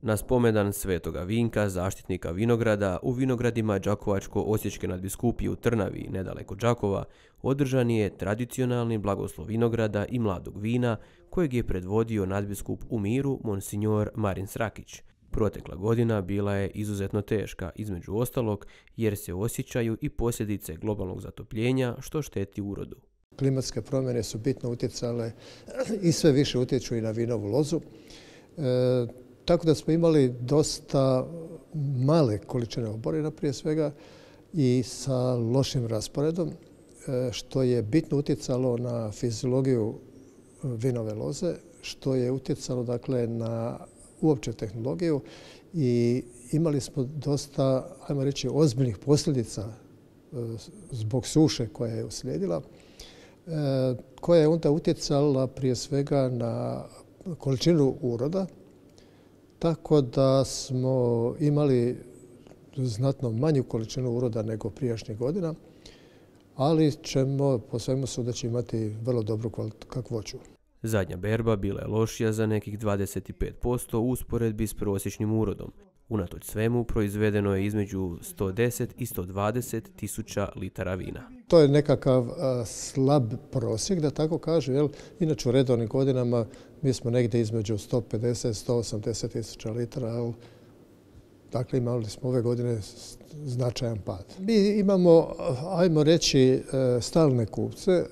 Na spomendan Svetoga Vinka, zaštitnika vinograda, u vinogradima Đakovačko-osječke nadbiskupije u Trnavi, nedaleko Đakova, održan je tradicionalni blagoslov vinograda i mladog vina, kojeg je predvodio nadbiskup u Miru, monsinjor Marin Srakić. Protekla godina bila je izuzetno teška, između ostalog, jer se osjećaju i posljedice globalnog zatopljenja, što šteti urodu. Klimatske promjene su bitno utjecale i sve više utječu i na vinovu lozu. Tako da smo imali dosta male količine oborina prije svega i sa lošim rasporedom, što je bitno utjecalo na fiziologiju vinove loze, što je utjecalo dakle na uopće tehnologiju i imali smo dosta, ajmo reći, ozbiljnih posljedica zbog suše koja je uslijedila, koja je onda utjecala prije svega na količinu uroda, tako da smo imali znatno manju količinu uroda nego prijašnjih godina, ali ćemo po svemu sudeći imati vrlo dobru kakvoću. Zadnja berba bila je lošija za nekih 25% u usporedbi s prosječnim urodom. Unatoč svemu proizvedeno je između 110 i 120 tisuća litara vina. To je nekakav slab prosjek, da tako kažem. Inače u redovnim godinama mi smo negdje između 150 i 180 tisuća litara. Dakle, imali smo ove godine značajan pad. Mi imamo, ajmo reći, stalne kupce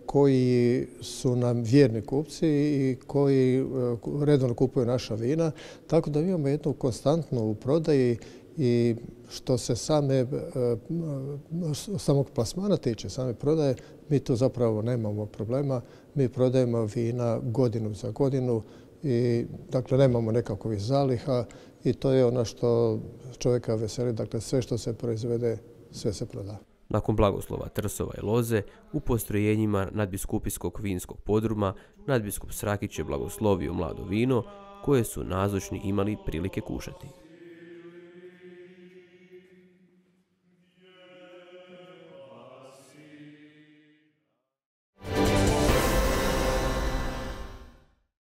koji su nam vjerni kupci i koji redovno kupuju naša vina, tako da imamo jednu konstantnu u prodaji i što se samog plasmana tiče, same prodaje, mi tu zapravo nemamo problema. Mi prodajemo vina godinu za godinu i dakle nemamo nekakvih zaliha i to je ono što čovjeka veseli. Dakle, sve što se proizvede, sve se proda. Nakon blagoslova Trsova i loze, u postrojenjima nadbiskupijskog vinskog podruma nadbiskup Srakić je blagoslovio mlado vino koje su nazočni imali prilike kušati.